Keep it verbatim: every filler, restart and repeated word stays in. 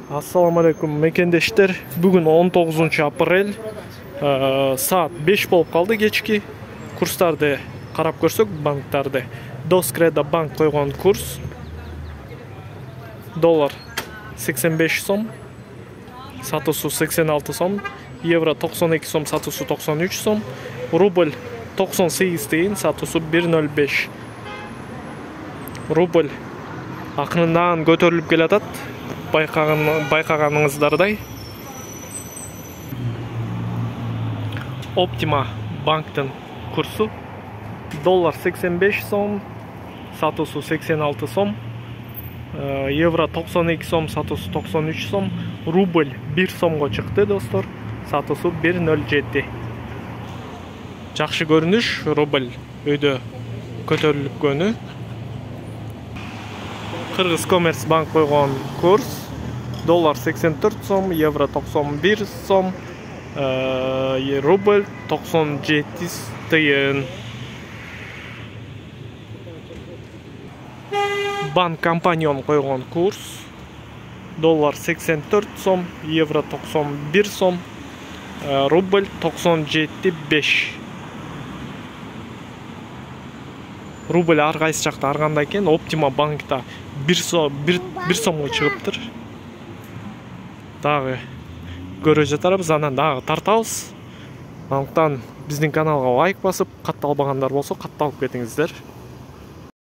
Ассаламу алейкум мекендештер. Бүгүн он тогузунчу апрель, саат беш болуп калды кечки. Курстарды карап көрсөк, банктарды. Доскреда банк койгон курс доллар сексен беш сом, сатуусу сексен алты сом, евро токсон эки сом, сатуусу токсон үч сом, рубль токсон сегиз тыйын, сатуусу бир ноль беш. Рубль акырындан көтөрүлүп келатат. Байкаган байкаганыңыздардай. Оптима банктын курсу доллар сексен беш сом, сатуусу сексен алты сом, евро токсон эки сом, сатуусу токсон үч сом, рубль бир сомго чыкты достор, сатуусу бир ноль жети. Жакшы көрүнүш, рубль өйдө көтөрүлүпкөнү. Кыргыз Коммерц банк койгон курс доллар сексен төрт сом, евро токсон бир сом, рубль токсон жети тыйын. Банк Компаньон койгон курс доллар сексен төрт сом, евро токсон бир сом, рубль токсон жети беш. Рубль ар кайсы жакта ар кандай экен. Оптима банкта бир сом бир сомго чыгыптыр. Дагы көрө жатарбыз, анан дагы тартабыз. Андыктан биздин каналга лайк басып, катталбагандар болсо катталып кетиңиздер.